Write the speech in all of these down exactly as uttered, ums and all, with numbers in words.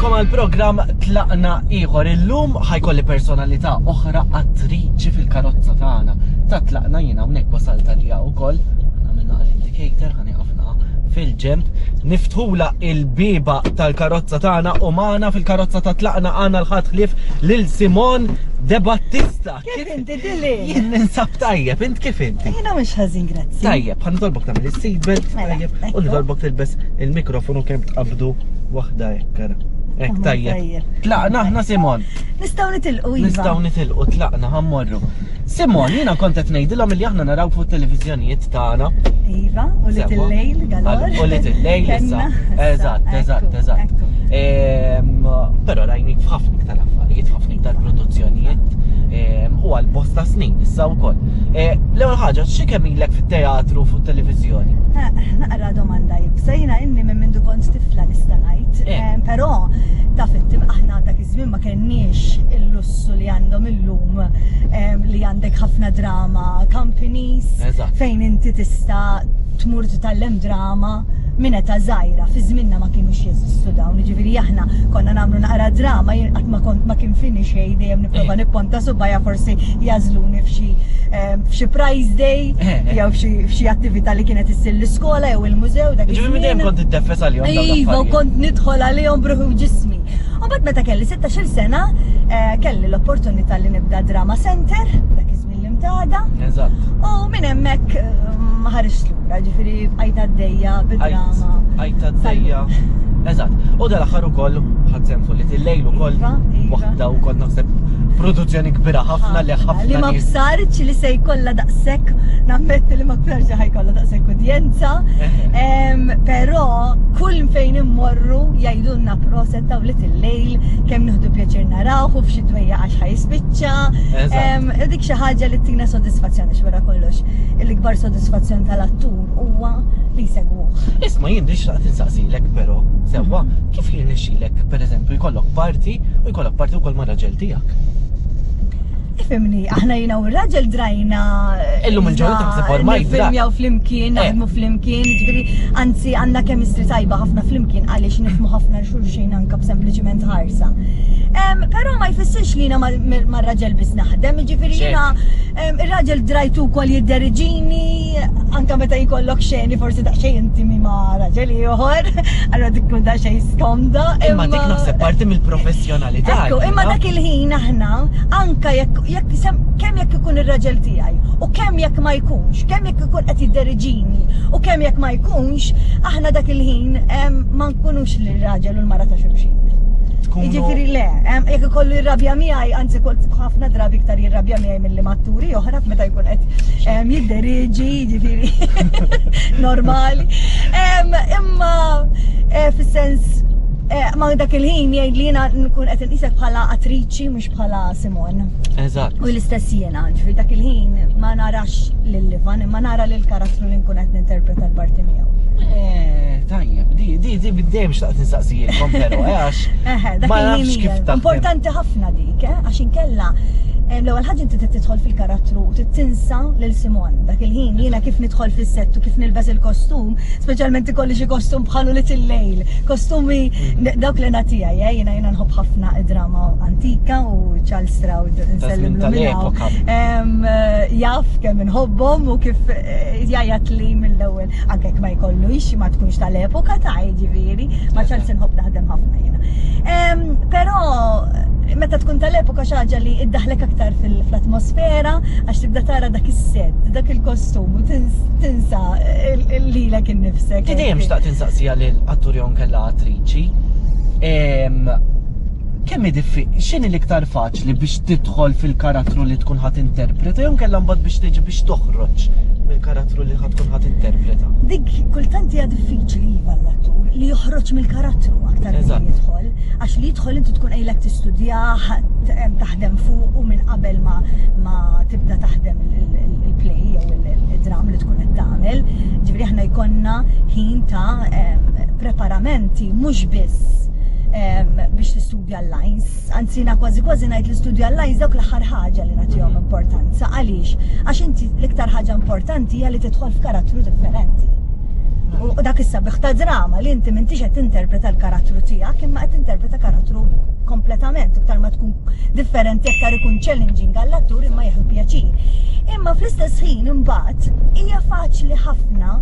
Nilqagħkom għal programm Tlaqna ieħor. Illum ħa jkolli personalità oħra, attriċi fil-karozza tagħna. Ta' Tlaqna. Jiena hawnhekk wasalt għalija wkoll. Għamilna għall-indicator, ħa nieqafna fil-ġemp. Niftħula il-bieba tal-karozza tagħna u magħna fil-karozza ta' Tlaqna għandna 'l ħadd ħlief lil Simone De Battista. Kif inti, Dili? Jien ninsab tajjeb, int kif inti? Jiena mhux ħażin, grazzi. Tajjeb, ħa nitolbok tagħmel is-seatbelt, Mela, tajjeb, u ekku. nitolbok tilbes il-mikrofonu kemm tqabdu waħda hekk ara. Hekk Tamam, tajjeb. tajjeb. Tlaqna aħna, Simon. Nistgħu nitilqu, iva. Nistgħu nitilqu, tlaqna, ħa mmorru. Simon, jiena kont qed ngħidilhom li aħna naraw fuq televiżjonijiet tagħna. Iva, u li Sewwa. til-lejl galor. U li til-lejl issa. Kenna. Eżatt, eżatt, Ekku, eżatt. ekku. Ehm, Però rajnik f'ħafna iktar affarijiet, f'ħafna iktar produzzjonijiet ehm, u għal bosta snin issa wkoll. Eh, L-ewwel ħaġa, xi kemm ilek fit-teatru, fuq televiżjoni? Eh, Naqra domanda iebsa, jiena inni minn mindu kont tifla, nista' ngħid. Eh. Eh, Però taf inti, aħna dak iż-żmien ma kenniex il-lussu li għandhom illum em, li għandek ħafna drama companies Eżatt. fejn inti tista' tmur titgħallem drama minn età żgħira. Fi żminna ma kienux jeżistu dawn, jiġifieri aħna konna nagħmlu naqra drama, jien qatt ma kont ma kien fini xejn, dejjem nipprova Eh. nipponta subgħajja forsi jagħżluni f'xi em, f'xi prize day Eh, eh. jew f'xi f'xi attività li kienet issir l-iskola jew il-mużew dak Ġifieri minn dejjem iż-żmien. kont iddeffes għalihom dawn Iva, u l-affarijiet. kont nidħol għalihom b'ruħi u ġismi. U mbagħad meta kelli sittax-il sena, eh, kelli l-opportunità li nibda Drama Center, dak iż-żmien l-Imtada. Eżatt. U minn hemmhekk eh, ma ħarist lura, ġifieri bqajt għaddejja bid-drama. Għajt għaddejja. Eżatt. U dal-aħħar ukoll ħadt sehem fuq Little Lejl ukoll. Iva, iva. Waħda wkoll naħseb produzzjoni kbira ħafna li ħafna Li ma nies- bsartx li se jkollha daqshekk, nammetti li ma bsartx li ħa jkollha daqshekk udjenza. Em, Però kull fejn immorru jgħidulna proset ta' Little Lejl, kemm nieħdu pjaċir narawh u f'xi dwejja għax ħa jispiċċa. Eżatt. Em, Dik xi ħaġa li tina sodisfazzjoni wara kollox. Il-ikbar sodisfazzjon tal-attur huwa li jsegwuh. Isma', jien di xtaqt insaqsilek però, sewwa, kif jirnexxilek pereżempju jkollok parti u jkollok parti wkoll ma' raġel tiegħek? Ifhimni, aħna jiena u r-raġel drajna. Illum il-ġurnata naħseb ormai draj. Nifilmjaw flimkien, Eh. naħdmu flimkien, ġifieri, anzi għandna chemistry tajba ħafna flimkien għaliex nifhmu ħafna xulxin anka b'sempliċiment ħarsa. Em, Però ma jfissirx li jiena ma' raġel biss naħdem, ġifieri jiena em, ir-raġel drajtu wkoll jidderiġini, anka meta jkollok xeni forsi daqsxejn intimi ma' raġel ieħor, allura dik tkun daqsxejn skomda. Imma dik naħseb parti mill-professjonalità. Ekku, imma dak il-ħin aħna, anka jekk jekk sem- kemm jekk ikun ir-raġel tiegħi u kemm jekk ma jkunx, kemm jekk ikun qed jidderiġini u kemm jekk ma jkunx, aħna dak il-ħin em, ma nkunux lir-raġel u l-mara ta' xulxin. Tkunu- Jiġifieri le, em, jekk ikollu jirrabja miegħi, anzi kol ħafna drabi iktar jirrabja miegħi milli ma' atturi oħra meta jkun qed em, jidderiġi, jiġifieri normali. Em, Imma eh, fis-sens eh, ma dak il-ħin jgħid li jiena nkun qed inqisek bħala attriċi mhux bħala Simon. Eżatt. U l-istess jiena, ġifieri dak il-ħin ma narax lil Ivan, imma nara lil karattru li nkun qed ninterpreta l-parti miegħu. Eh, tajjeb, di di di dejjem xtaqt insaqsijilkom però, eh, għax Eħe, dak ma il-ħin nafx kif hija taħdem. Importanti ħafna dik, eh, għax inkella em, l-ewwel ħaġa inti trid tidħol fil-karattru u trid tinsa lil Simon. Dak il-ħin jiena kif nidħol fis-sett u kif nilbes il-kostum, speċjalment ikolli xi kostum bħalu Little Lejl, kostumi dawk li nagħtija, eh, jiena jiena nħobb ħafna id-drama antika u Charles Stroud nsellimlu minn hawn. tal-epoka. Em, eh, Jaf kemm inħobbhom u kif eh, jgħajjat li mill-ewwel anke jekk ma jkollux ma tkunx tal-epoka ta' ġifieri, ma Charles inħobb naħdem ħafna jiena. Em, Però meta tkun tal-epoka xi ħaġa li iddaħlek aktar fil-atmosfera għax tibda tara dak is-set, dak il-kostum u tins- tinsa il- lilek innifsek. Ti dejjem xtaqt insaqsija lil attur jew kella attriċi. Em, Kemm hi diffi, x'inhi l-iktar faċli, biex tidħol fil-karattru li tkun ħa tinterpreta jew kellha mbagħad biex tiġi biex toħroġ mill-karattru li ħa tkun ħa tinterpreta? Dik kultant hija diffiċli, iva, l-attur li joħroġ mill-karattru aktar milli Eżatt. jidħol, għax li jidħol inti tkun ilek tistudjah, taħdem fuq u minn qabel ma, ma tibda taħdem il-play jew il-dram li tkun qed tagħmel. Ġifieri aħna jkollna ħin ta' em, preparamenti mhux biss em, biex tistudja l-lines, anzi na kważi kważi ngħid li studja l-lines dawk l-aħħar ħaġa li nagħtihom importanza. Għaliex? Għax inti l-iktar ħaġa importanti hija li tidħol f'karattru differenti. U dak Dak is-sabiħ ta' drama li inti m'intix qed tinterpreta l-karattru tiegħek imma qed tinterpreta karattru kompletament, iktar ma tkun differenti aktar ikun challenging għall-attur imma jieħu pjaċir. Imma fl-istess ħin imbagħad hija faċli ħafna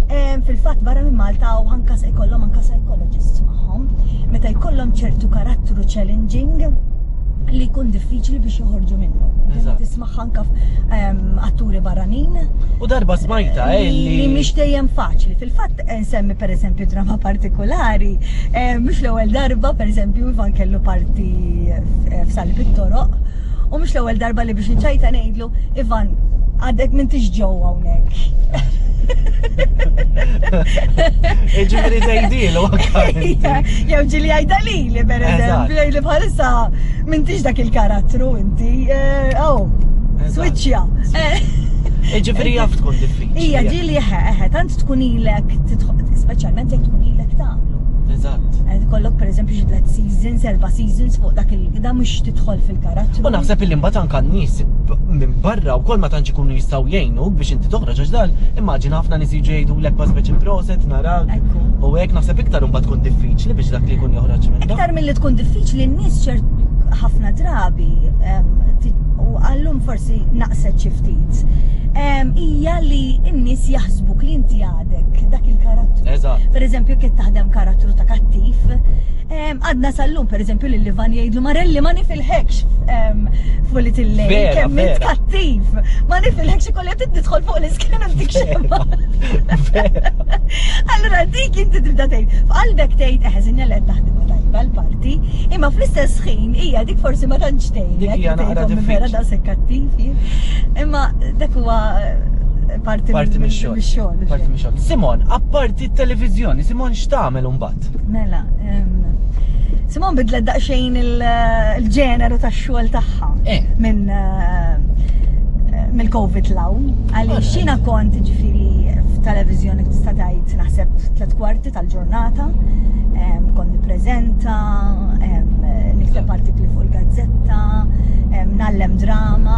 em, fil-fatt barra minn Malta u anka se jkollhom anka psychologists magħhom, meta jkollhom ċertu karattru challenging li jkun diffiċli biex joħorġu minnu. Eżatt. Tisma' anka em, atturi barranin U darba smajta, eh, li li. mhix dejjem faċli. Fil-fatt eh, nsemmi pereżempju drama partikolari, eh, mhux l-ewwel darba pereżempju Ivan kellu parti eh, f'Salib it-Toroq u mhux l-ewwel darba li biex niċċajta ngħidlu Ivan għadek m'intix ġewwa hawnhekk. Ġifieri tgħidilu anka inti. Jew ġieli jgħidha lili per eżempju, jgħidli bħalissa m'intix dak il-karattru inti. eh, Oh, Eżatt. switchja. Eh. Ġifieri jaf tkun diffiċli. Ija ġieli eħe, tant tkun ilek tidħol, speċjalment jekk tkun ilek tagħmlu. Eżatt. Eh, Kollok per eżempju xi tliet seasons, erba' seasons fuq dak il da mhux tidħol fil-karattru. U naħseb illi mbagħad anka n-nies minn barra wkoll ma tantx ikunu jistgħu jgħinuk biex inti toħroġ għax dan immaġina ħafna nies jiġu jgħidulek pas speċi proset narak. Ekku. U hekk naħseb iktar imbagħad tkun diffiċli biex dak li jkun joħroġ minn Iktar milli tkun diffiċli n-nies ċert ħafna drabi em, ti- u għallum forsi naqset xi ftit. Em, Hija li n-nies jaħsbuk li inti għadek dak il-karattru. Eżatt. Per eżempju, kif taħdem karattru ta' kattiv, em, għadna sal-lum, per eżempju, li Ivan jgħidlu Marelli ma nifilħekx em, fuq li tillej, Vera, kemm int vera. kattiv, ma nifilħekx ikolli qed tidħol fuq l-iskena ntik xemma. Vera. Allura dik inti tibda tgħid, f'qalbek tgħid eħe sinja li qed taħdimha tajba l-parti, imma fl-istess ħin hija dik forsi ma tantx tgħidlek. Dik hija naqra tgħidhom vera diffiċli. daqshekk kattiv. Imma dak huwa eh, parti Parti mix-xogħol. mix-xogħol. Parti mix-xogħol. Simon, apparti t-televiżjoni, Simon x'tagħmel imbagħad? Mela, em, Simon bidlet daqsxejn il- il-ġeneru tax-xogħol tagħha. Eh. Minn eh, mill-Covid 'l hawn. Għaliex Alright. jiena kont ġifieri f'televizjoni tista' tgħid naħseb tliet kwarti tal-ġurnata. Em, Kont nippreżenta, em, nikteb artikli fuq il-gazzetta, em, ngħallem drama.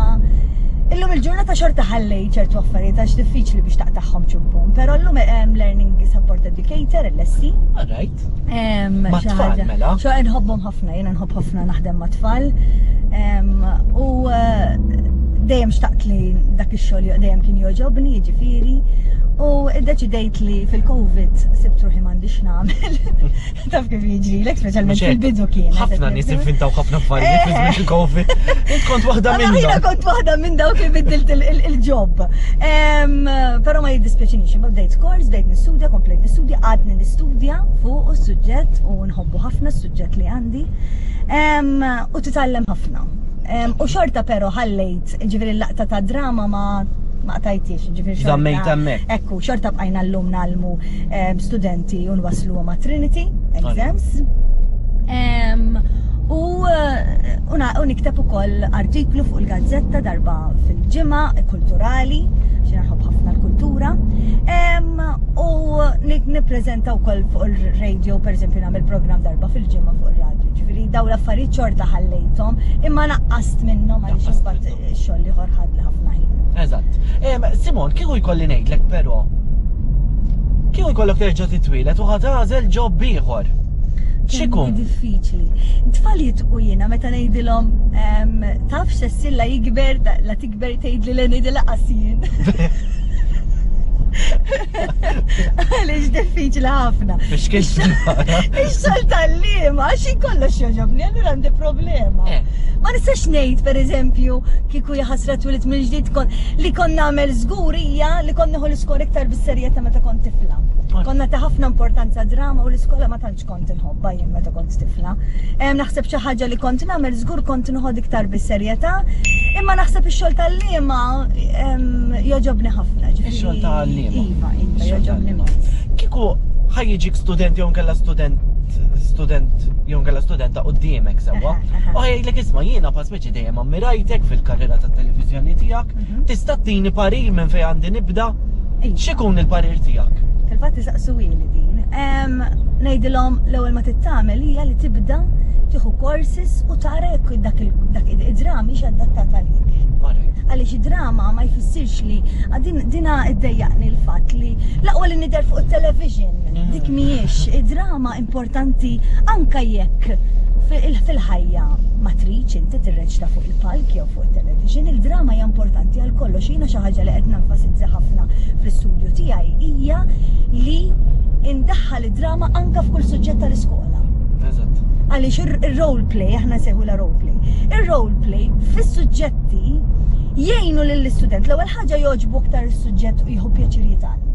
Illum il-ġurnata xorta ħallej ċertu affarijiet għax diffiċli biex taqtagħhom ċubbum, però llum hemm Learning Support Educator, L S E. All right. Em, Ma' xi tfal, ħaġa- mela? Xo nħobbhom ħafna, jiena nħobb ħafna naħdem ma' tfal. Em, U eh, dejjem xtaqt li dak ix-xogħol dejjem kien jogħġobni, jiġifieri. U iddeċidejt li fil-Covid sibt ruħi m'għandix nagħmel. Taf kif jiġrilek, speċjalment Mhux hekk. fil-bidu kien. Ħafna nies inventaw ħafna affarijiet fi żmien il-Covid. Int kont waħda Allora jiena minnhom. kont waħda minn dawk li biddilt il- il- il-job. Em, Però ma jiddispjaċinix, imma bdejt kors, bdejt nistudja, komplejt nistudja, għadni nistudja fuq is-suġġett u nħobbu ħafna s-suġġett li għandi. Em, U titgħallem ħafna. Em, U xorta però ħallejt, ġifieri l-laqta ta' drama ma ma qtajtix, ġifieri xorta. Żammejt hemmhekk. Ekku, xorta bqajna llum ngħallmu em, studenti u nwaslu ma' Trinity exams. Em, U eh, u na- u nikteb ukoll artiklu fuq il-gazzetta darba fil-ġimgħa kulturali, xi nħobb ħafna l-kultura. Em, U ni- nippreżenta wkoll fuq il-radio, per eżempju nagħmel programm darba fil-ġimgħa fuq ir-radio. Ġifieri daw l-affarijiet xorta ħallejthom, imma naqqast minnhom għaliex Naqqast imbagħad minnhom. ix-xogħol ieħor ħadli ħafna ħin. Eżatt. Em, Simon, kieku jkolli ngħidlek però. Kieku jkollok terġa' titwieled u ħa tagħżel job ieħor. X'ikun? Diffiċli. Tfal jitqu jiena meta ngħidilhom em, taf x'essilla jikber, la tikber tgħidli le ngħidilha qasjien. Għaliex diffiċli ħafna. Biex kien Ix-xogħol tal-liema, għax kollox jogħġobni, allura għandi problema. Eh. Ma nistax ngħid pereżempju kieku jaħasra twelidt mill-ġdid kon li kon nagħmel żgur hija li kon nieħu l-iskola iktar bis-serjetà meta kont tifla. Konna ta' ħafna importanza drama u l-iskola ma tantx kont inħobbha jien meta kont tifla. Em, Naħseb xi ħaġa li kont nagħmel żgur kont nħod iktar bis-serjetà, imma naħseb ix-xogħol tal-liema em, jogħġobni ħafna. ġifieri- Ix-xogħol tal-liema. Iva, iva, Ix-xogħol jogħġobni tal-liema. immens. Kieku ħa jiġik student jew kella student student jew kella studenta quddiemek sewwa. Aha, aha. U ħa jgħidlek isma' jiena pa speċi dejjem ammirajtek fil-karriera tat-televiżjoni tiegħek. Mhm. Tista' tini parir minn fejn għandi nibda? Iva. X'ikun il-parir tiegħek? Fil-fatt isaqsu ili din. Em, Ngħidilhom l-ewwel ma tittamel hija li tibda tieħu courses u tara jekk dak il- dak id-drama hix adattata għalik. Alright. Għaliex id-drama ma jfissirx li din dina iddejjaqni l-fatt li l-aqwa li nidher fuq il-television Mm. dik mhijiex id-drama importanti anka jekk fil- fil-ħajja ma tridx inti tirreċta fuq il-palk jew fuq il-television, il-drama hija importanti għal kollox. Jiena xi ħaġa li qed nenfasizza ħafna fl-istudju tiegħi hija li indaħħal id-drama anka f'kull suġġett tal-iskola. Eżatt. Għaliex il-role play, aħna nsejħulha role play. Il-role play fis-suġġetti jgħinu lill-istudent. L-ewwel ħaġa jogħġbu aktar is-suġġett u jieħu pjaċir jitgħallem.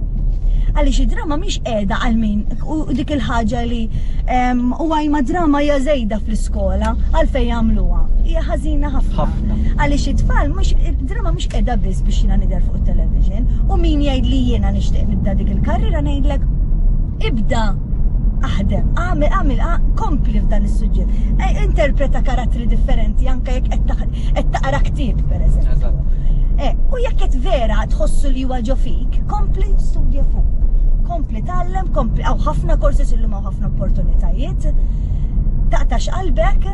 Għaliex id-drama mhix qiegħda għal min u dik il-ħaġa li em, u għajma drama hija żejda fl-iskola għalfejn jagħmluha. Hija ħażina ħafna. Ħafna. Għaliex it-tfal mhux id-drama mhux qiegħda biss biex jiena nidher fuq it-television u min jgħid li jiena nixtieq nibda dik il-karriera ngħidlek ibda aħdem, għamil, għamil, kompli f'dan is-suġġett. Eh, Interpreta karattri differenti anke jekk qed taħ- qed taqra ktieb pereżempju. Eżatt. Eh, u jekk qed vera tħossu li huwa ġo fik, kompli studja fuq. Kompli tgħallem, kompli hawn ħafna courses illum hawn ħafna opportunitajiet. Taqtax qalbek,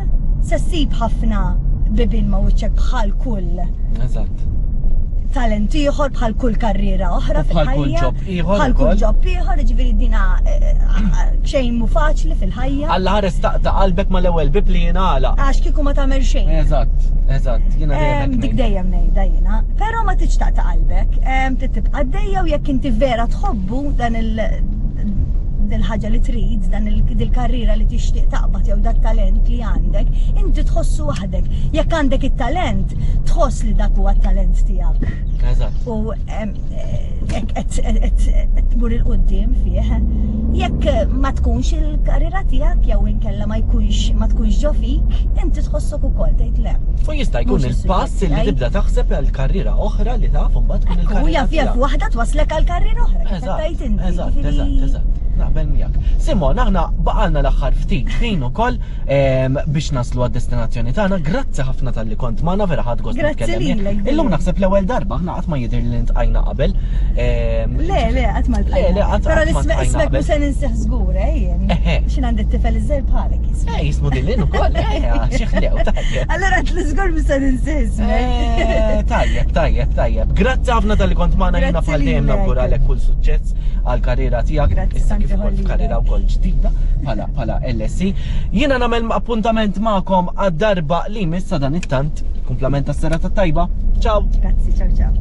se ssib ħafna bibin ma' wiċċek bħal kull Eżatt. talent ieħor bħal kull karriera oħra U bħal kull fil-ħajja. job ieħor Bħal kull ukoll. job ieħor, ġifieri dina eh, eh, xejn mu faċli fil-ħajja. Alla ħares taqta' qalbek mal-ewwel bib li jingħalaq. Għax kieku ma tagħmel xejn. Eżatt, eżatt. Jiena dejjem Em, hekk Dik ngħid. dejjem ngħidha jiena, però ma tridx taqta' qalbek, em, trid tibqa' għaddejja u jekk inti vera tħobbu dan il dil-ħaġa li trid, dan il- dil-karriera li tixtieq taqbad jew dat talent li għandek, inti tħossu waħdek. Jekk għandek it-talent, tħoss li dak huwa t-talent tiegħek. Eżatt. U em, eh, hekk qed qed- qed tmur 'il quddiem fih. Jekk ma tkunx il-karriera tiegħek jew inkella ma jkunx ma tkunx ġo fik, inti tħossok ukoll tgħid le. U jista' jkun Mhux il-pass is-suġġett li tiegħi. tibda taħseb għal karriera oħra li taf mbagħad tkun U il-karriera. jaf jaf tiegħek. waħda twaslek għal karriera oħra. kif qed Eżatt, tgħid inti, eżatt, jiġifieri- eżatt, eżatt. Naqbel miegħek. Simon, aħna baqalna l-aħħar ftit ħin ukoll em, biex naslu għad-destinazzjoni tagħna. Grazzi ħafna talli kont magħna vera ħadt gost Grazzi nitkellem miegħek. lilek, Illum Dylan. naħseb l-ewwel darba aħna qatt ma jidher li ltqajna qabel. Em, Le, le, qatt ma Le, le, qatt Però qatt ma l-ismek ltqajna ismek qabel. mhux se ninsih żgur, eh, jien. Eħe. X'in għandi t-tifel iż-żgħir bħalek jismu. Eh, jismu Dylan ukoll, eh, xi ħlew, tajjeb. Allora l-żgur mhux se ninsih ismek. Eh, Tajjeb, tajjeb, tajjeb. Grazzi ħafna talli kont magħna jiena Grazzi bħal dejjem lilek. nawguralek kull suċċess għal karriera tiegħek. Grazzi, Issa kif tanti ukoll ħollilek. f'karriera wkoll ġdida bħala bħala L S E. Jiena nagħmel appuntament magħkom għad-darba li missa dan it-tant. Kumplament tas-serata tajba. Ciao. Grazzi, ciao ciao.